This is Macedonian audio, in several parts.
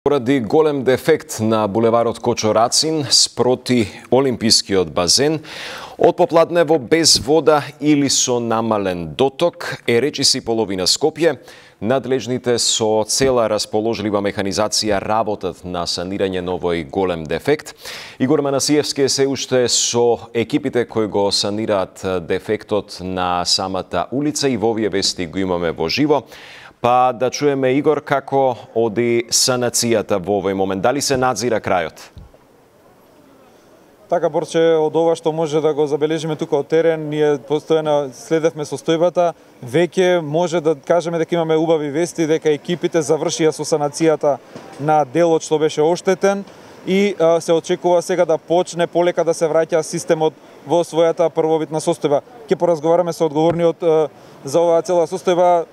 Поради голем дефект на булеварот Кочо Рацин спроти Олимпискиот базен, од попладнево без вода или со намален доток е речиси половина Скопје. Надлежните со цела расположлива механизација работат на санирање на овој голем дефект. Игор Манасиевски е се уште со екипите кои го санираат дефектот на самата улица и во овие вести го имаме во живо. Па да чуеме, Игор, како оди санацијата во овој момент. Дали се надзира крајот? Така, Борче, од ова што може да го забележиме тука од терен, ние постојано следевме состојбата. Веќе може да кажеме дека имаме убави вести, дека екипите завршија со санацијата на делот што беше оштетен и се очекува сега да почне полека да се враќа системот во својата првобитна состојба. Ќе поразговараме со одговорниот за оваа цела состојба.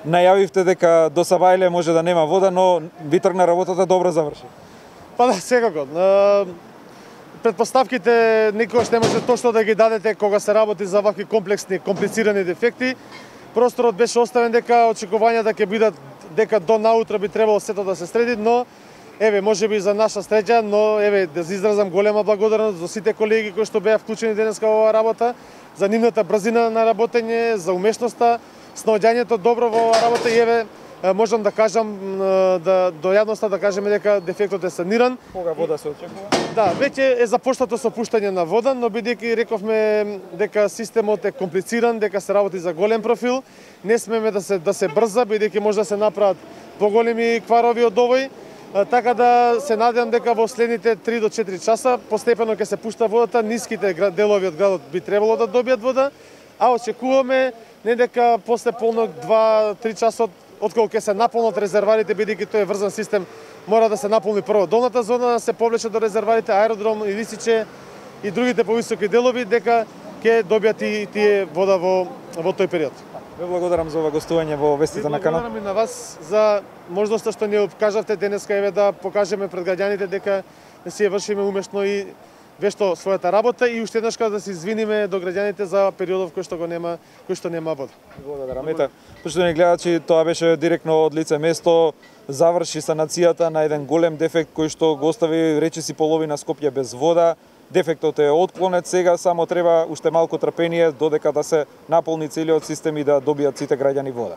Најавивте дека до Сабајле може да нема вода, но ви тргна работата, добро заврши. Па да, секако. Предпоставките никогаш не може точно да ги дадете кога се работи за вакви комплексни, комплицирани дефекти. Просторот беше оставен дека очекувањата ќе бидат дека до наутро би требало сето да се среди, но еве можеби за наша среќа, но еве да изразам голема благодарност за сите колеги кои што беа вклучени денеска во оваа работа, за нивната брзина на работење, за умешноста, снаоѓањето добро во оваа работа и еве можам да кажам до јавноста да кажеме дека дефектот е саниран. Кога вода се очекува? Да, веќе е започнато со пуштање на вода, но бидејќи рековме дека системот е комплициран, дека се работи за голем профил, не смеме да се брза, бидејќи може да се направат поголеми кварови од овој. Така да се надевам дека во следните 3 до 4 часа постепено ќе се пушта водата, ниските делови од градот би требало да добијат вода, а очекуваме не дека после полнок 2-3 часот откако ќе се наполнат резерварите, бидејќи тој е врзан систем, мора да се наполни прво долната зона, да се повлече до резерварите, аеродром, Илисиче и другите повисоки делови, дека ќе добијат и тие вода во тој период. Ве благодарам за ова гостување во вестите на канал. Благодарам и на вас за можноста што ни кажавте денеска еве да покажеме пред граѓаните дека не си ја вршиме умешно и вешто својата работа и уште еднаш да се извиниме до граѓаните за периодов кој што нема вода. Благодарам. Ете, почитувани гледачи, тоа беше директно од лице место. Заврши санацијата на еден голем дефект кој што го остави речиси половина Скопје без вода. Дефектот е отклонет сега, само треба уште малку трпение додека да се наполни целиот систем и да добијат сите граѓани вода.